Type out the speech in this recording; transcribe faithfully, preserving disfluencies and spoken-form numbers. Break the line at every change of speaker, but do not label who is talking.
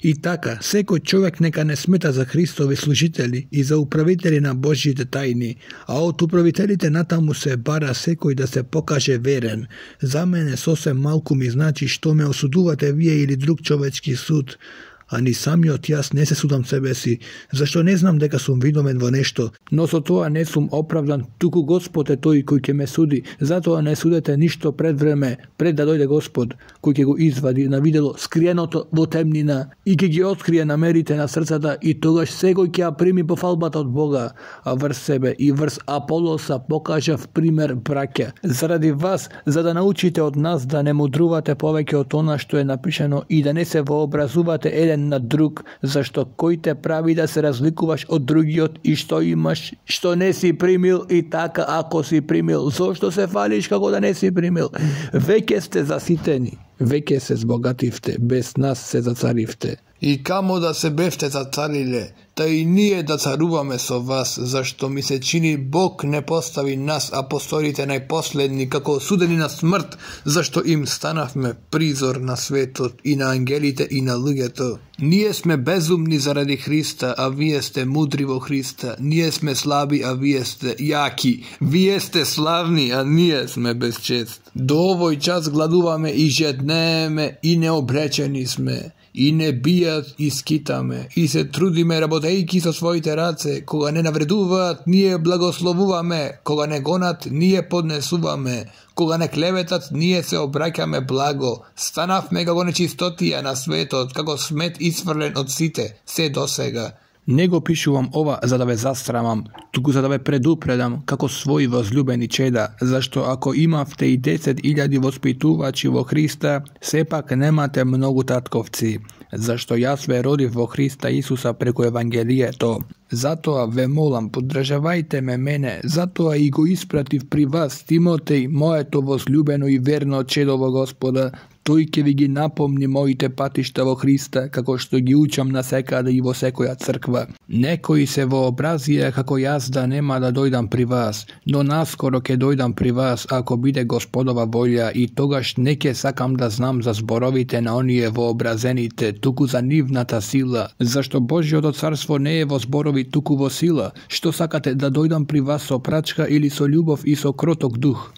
И така, секој човек нека не смета за Христови служители и за управители на Божјите тајни, а од управителите натаму се бара секој да се покаже верен. За мене сосем малку ми значи што ме осудувате вие или друг човечки суд, а ни самиот јас не се судам себе си, зашто не знам дека сум видомен во нешто, но со тоа не сум оправдан, туку Господ е тој кој ќе ме суди. Затоа не судете ништо пред време, пред да дојде Господ, кој ќе го извади на видело скриеното во темнина и ќе ги открие намерите на срцата, и тогаш секој ќе ја прими пофалбата од Бога, а врз себе и врз Аполоса покажав пример, браќа, заради вас, за да научите од нас да не мудрувате повеќе од она што е напишано и да не се вообразувате еден на друг, зашто кој те прави да се разликуваш од другиот и што имаш, што не си примил, и така ако си примил, зошто се фалиш како да не си примил? Веќе сте заситени, веќе се збогативте, без нас се зацаривте.
И камо да се бевте зацариле, та и ние да царуваме со вас, зашто ми се чини Бог не постави нас, апостолите најпоследни, како осудени на смрт, зашто им станавме призор на светот и на ангелите и на луѓето. Ние сме безумни заради Христа, а вие сте мудри во Христа. Ние сме слаби, а вие сте јаки. Вие сте славни, а ние сме без чест. До овој час гладуваме и жеднееме и необречени сме. И не бијат и скитаме, и се трудиме работејки со своите раце, кога не навредуваат, ние благословуваме, кога не гонат, ние поднесуваме, кога не клеветат, ние се обраќаме благо, станавме како нечистотија на светот, како смет исфрлен од сите, се досега.
Не го пишувам ова за да ве застрамам, туку за да ве предупредам како своји возлюбени чеда, зашто ако имавте и десет илјади воспитувачи во Христа, сепак немате многу татковци, зашто јас ве родив во Христа Исуса преку Евангелието. Затоа ве молам, поддржавајте ме мене, затоа и го испратив при вас Тимотеј, моето возлюбено и верно чедо во Господа. Тој ќе ви ги напомни моите патишта во Христа, како што ги учам на секаде и во секоја црква. Некои се вообразија како јас да нема да дојдам при вас, но наскоро ќе дојдам при вас ако биде Господова волја, и тогаш не ќе сакам да знам за зборовите на оние вообразените, туку за нивната сила, зашто Божјото царство не е во зборови, туку во сила. Што сакате, да дојдам при вас со прачка или со љубов и со кроток дух?